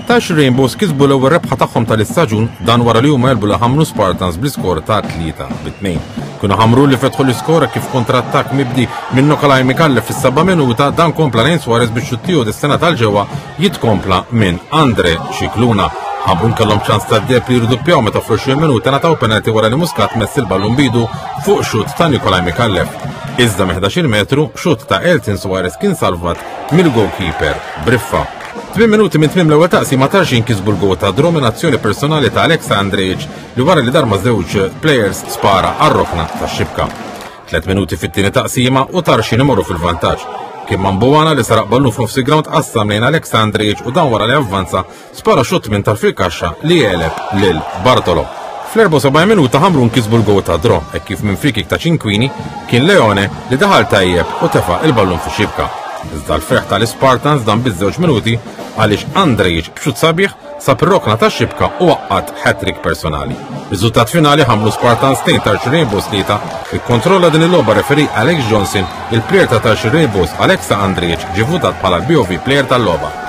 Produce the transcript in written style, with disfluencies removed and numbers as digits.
Tarxien Rainbows kisbu l-ewwel rebħa tagħhom tal-istaġun dan wara li huma għelbu lil Ħamrun Spartans bl-iskor ta' 3-2. Kienu Ħamrun li fetħu l-iskor kif kontrattakk mibdi minn Nikolaj Micallef fis-seba' minuta dan kompla lejn Suarez biex xutt tiegħu destinat għal ġewwa jitkompla minn Andre Scicluna. Ħamrun kellhom ċans ta' deb li jirduppjaw meta fl-20 minuta ngħataw penalti wara li Muscat mess il-ballun bidu fuq xutt ta' Nikolaj Micallef. Iżda minn 11 metru, xutt ta' Elton Suarez kien salvat mill-goalkeeper Briffa. Tmien minuti minn tmiem l-ewwel taqsima Tarxien kisbu l-gowl ta' draw minn azzjoni personali ta' Alexa Andrejic li wara li dar ma' żewġ players spara għar-rokna tax-xibka. Tlet minuti fit-tieni taqsima u Tarxien imorru fil-vantaġġ. Kien Mambuana li saraq ballun f'nofs il-ground qassam lejn Alexa Andrejic u dan wara li avvanza spara xutt minn tarf il-kaxxa li għeleb lil Bartolo. Fl-74 minuta Ħamrun kisbu l-gowl ta' draw hekk kif minn free kick ta' Cinquini kien Leone li daħal tajjeb u tefa' il-ballun fix-xibka. Iżda l-ferħ tal-Ispartans dam biss żewġ minuti għaliex Andrejic b'xut sabiħ sab ir-rokna tax-xibka u għaqqad hat-trick personali. Riżultat finali Ħamrun Spartans 2 Tarxien Rainbows 3 ikkontrolla din il-logħba referee Alex Johnson, il-plejer ta' Tarxien Rainbows Alexa Andrejic ġie votat bħala l-BOV player tal-logħba.